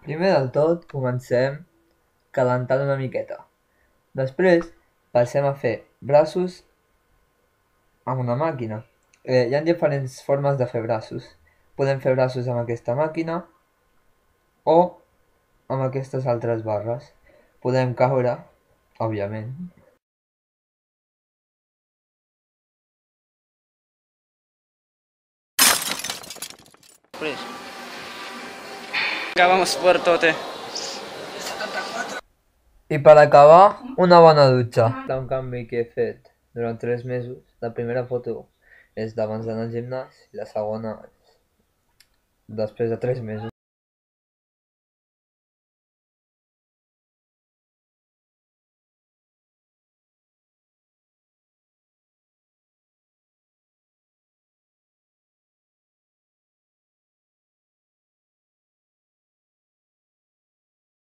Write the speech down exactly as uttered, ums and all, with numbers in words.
Primer del tot, comencem calentant una miqueta. Després, passem a fer braços amb una màquina. Eh, hi ha diferents formes de fer braços. Podem fer braços amb aquesta màquina o amb aquestes altres barres. Podem caure, òbviament. Acabamos por tote. I per acabar, una bona dutxa. Un canvi que he fet durant tres mesos. La primera foto és d'abans d'anar al gimnàs i la segona és després de tres mesos.